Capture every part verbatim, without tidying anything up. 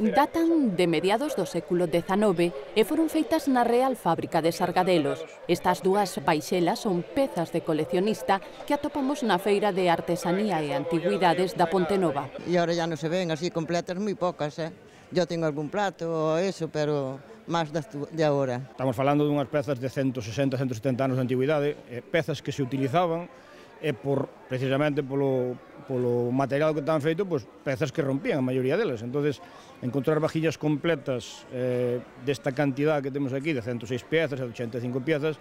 Datan de mediados do século dezanove e foron feitas na Real Fábrica de Sargadelos. Estas dúas baixelas son pezas de coleccionista que atopamos na Feira de Artesanía e Antigüidades da Pontenova. E agora ya non se ven así completas, moi pocas, eh? Yo tengo algún plato ou eso, pero máis de agora. Estamos falando dunhas pezas de ciento sesenta, ciento setenta anos de antigüidade, pezas que se utilizaban e por, precisamente polo, polo material que estaban feito, pues, pezas que rompían, a maioría delas. Entonces, encontrar vajillas completas eh, desta cantidad que temos aquí, de ciento seis piezas, de ochenta e cinco piezas,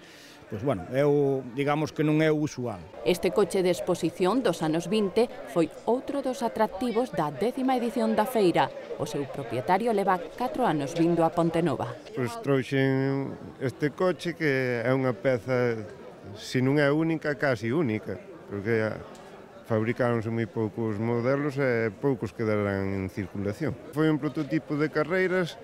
pues, bueno, é o, digamos que non é o usual. Este coche de exposición dos anos vinte foi outro dos atractivos da décima edición da feira. O seu propietario leva catro anos vindo a Pontenova. Pois trouxen este coche que é unha peza, se non é única, casi única, porque fabricáronse moi poucos modelos e poucos quedarán en circulación. Foi un prototipo de carreiras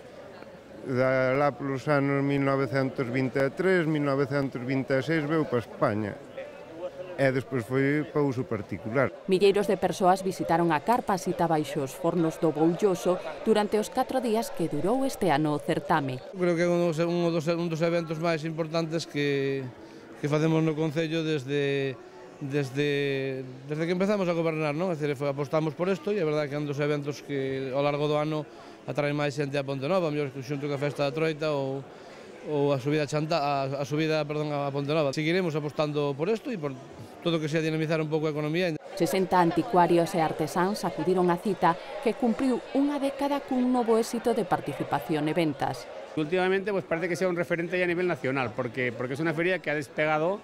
da lá polos anos mil novecentos vinte e tres, mil novecentos vinte e seis veu para España e despois foi para uso particular. Milleiros de persoas visitaron a carpa sita baixo os fornos do Boulloso durante os catro días que durou este ano o certame. Creo que é un dos, un dos, un dos eventos máis importantes que, que facemos no Concello desde Desde, desde que empezamos a gobernar, non? É dicir, apostamos por isto e é verdade que é un dos eventos que ao largo do ano atraen máis xente a Pontenova, mellor que xunto que a festa da Troita ou, ou a subida, chanta, a, a subida perdón, a Pontenova. Seguiremos apostando por isto e por todo que sea dinamizar un pouco a economía. sesenta anticuarios e artesáns acudiron á cita que cumpriu unha década cun novo éxito de participación e ventas. Últimamente pues, parece que sea un referente ya a nivel nacional, porque, porque es una feria que ha despegado.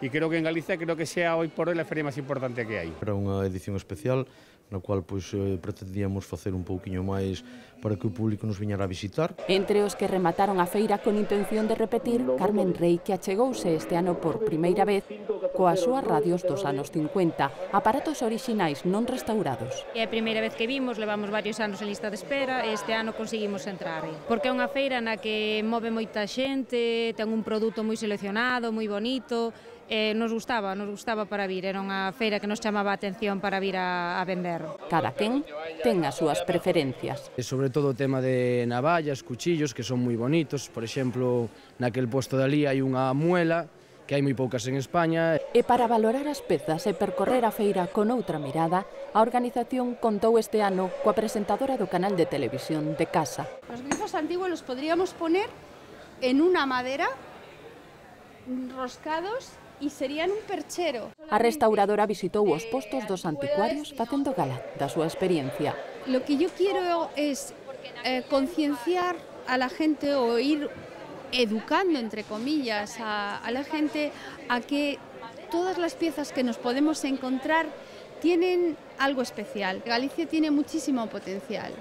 E creo que en Galicia creo que sea hoy por hoy a feria máis importante que hai. Era unha edición especial na cual pois, pretendíamos facer un pouquiño máis para que o público nos viñara a visitar. Entre os que remataron a feira con intención de repetir, Carmen Rey, que achegouse este ano por primeira vez coas súas radios dos anos cincuenta, aparatos orixinais non restaurados. É a primeira vez que vimos, levamos varios anos en lista de espera e este ano conseguimos entrar. Porque é unha feira na que move moita xente, ten un produto moi seleccionado, moi bonito, e nos gustaba, nos gustaba para vir, era unha feira que nos chamaba a atención para vir a, a vender. Cada quen ten as súas preferencias. E sobre todo o tema de navallas, cuchillos, que son moi bonitos, por exemplo, naquel posto de ali hai unha muela, que hai moi poucas en España. E para valorar as pezas e percorrer a feira con outra mirada, a organización contou este ano coa presentadora do canal de televisión de casa. Os grifos antiguos los podríamos poner en unha madera, roscados, e serían un perchero. A restauradora visitou os postos dos anticuarios facendo gala da súa experiencia. Lo que yo quiero es eh, concienciar a la gente o ir educando, entre comillas, a, a la gente a que todas las piezas que nos podemos encontrar tienen algo especial. Galicia tiene muchísimo potencial.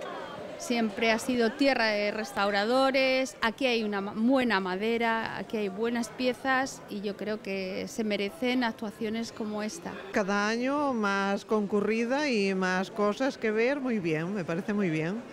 Siempre ha sido tierra de restauradores, aquí hay una buena madera, aquí hay buenas piezas y yo creo que se merecen actuaciones como esta. Cada año más concurrida y más cosas que ver, muy bien, me parece muy bien.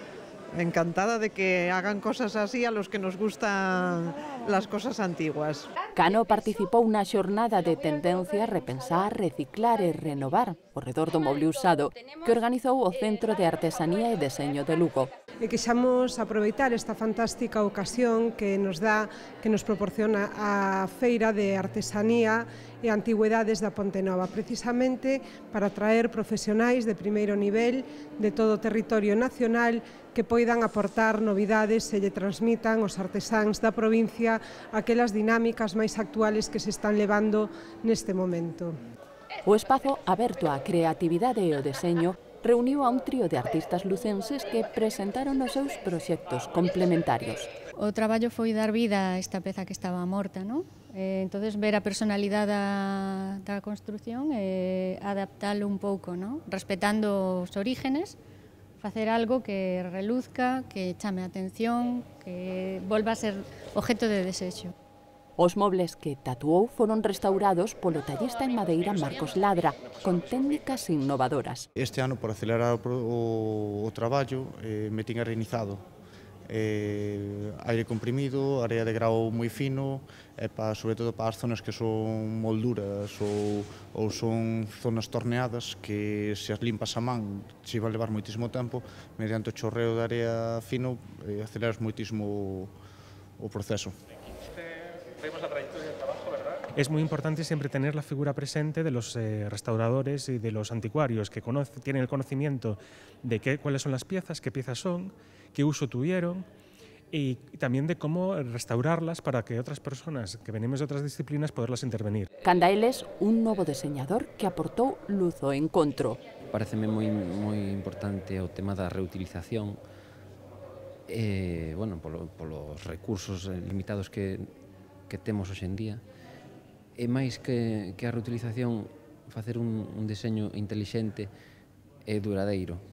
Encantada de que hagan cosas así a los que nos gustan las cosas antiguas. Cano participou na xornada de tendencia repensar, reciclar e renovar ao redor do moble usado que organizou o Centro de Artesanía e Deseño de Lugo. E quixamos aproveitar esta fantástica ocasión que nos dá, que nos proporciona a Feira de Artesanía e Antigüedades da Pontenova, precisamente para traer profesionais de primeiro nivel de todo o territorio nacional que poidan aportar novidades e lle transmitan os artesáns da provincia aquelas dinámicas máis actuales que se están levando neste momento. O espazo aberto á creatividade e o deseño reuniu a un trío de artistas lucenses que presentaron os seus proxectos complementarios. O traballo foi dar vida a esta peza que estaba morta, non? Eh, entonces ver a personalidade da, da construción e adaptalo un pouco, non? Respetando os orígenes, facer algo que reluzca, que chame a atención, que volva a ser objeto de desexo. Os mobles que tatuou foron restaurados polo tallista en madeira Marcos Ladra, con técnicas innovadoras. Este ano, por acelerar o, o, o traballo, eh, me tinha reinizado eh, aire comprimido, area de grau moi fino, e pa, sobre todo para as zonas que son molduras ou, ou son zonas torneadas que se as limpas a man se va a levar moitísimo tempo, mediante o chorreo de area fino eh, aceleras moitísimo o proceso. Vemos la trayectoria del trabajo, ¿verdad? Es muy importante siempre tener la figura presente de los eh, restauradores y de los anticuarios que conoce, tienen el conocimiento de qué, cuáles son las piezas, qué piezas son, qué uso tuvieron y también de cómo restaurarlas para que otras personas que venimos de otras disciplinas poderlas intervenir. Canda eles, un novo deseñador que aportou luz ao encontro. Pareceme moi, moi importante o tema da reutilización eh, bueno, polo, polos recursos limitados que, que temos hoxe en día. E máis que, que a reutilización, facer un, un deseño intelixente e duradeiro.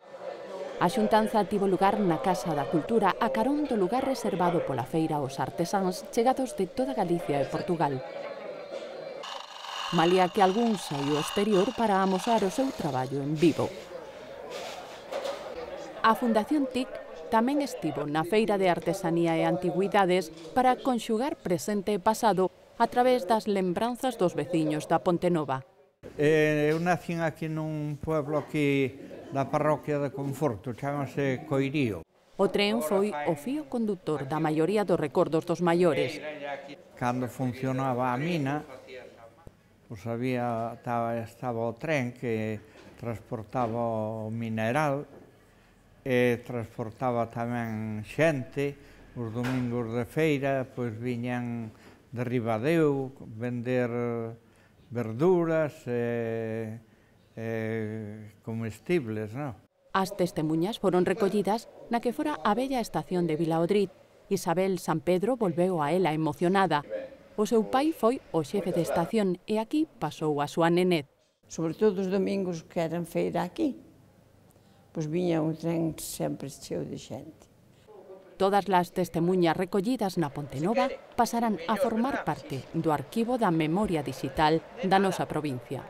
A xuntanza tivo lugar na Casa da Cultura a carón do lugar reservado pola feira aos artesáns chegados de toda Galicia e Portugal. Malia que algún saiu ao exterior para amosar o seu traballo en vivo. A Fundación T I C tamén estivo na Feira de Artesanía e Antigüidades para conxugar presente e pasado a través das lembranzas dos veciños da Pontenova. Eu nacín aquí nun pueblo aquí da parroquia de Conforto, chamase Coirío. O tren foi o fío conductor da maioría dos recordos dos maiores. Cando funcionaba a mina, pues había, estaba, estaba o tren que transportaba o mineral e transportaba tamén xente. Os domingos de feira, pois viñan de Ribadeo vender verduras e, e comestibles, non? As testemunhas foron recollidas na que fora a bella estación de Vilaodrid. Isabel San Pedro volveu a ela emocionada. O seu pai foi o xefe de estación e aquí pasou a súa nenez. Sobre todo os domingos que eran feira aquí, pois viña un tren sempre cheo de xente. Todas as testemunhas recollidas na Pontenova pasarán a formar parte do arquivo da memoria digital da nosa provincia.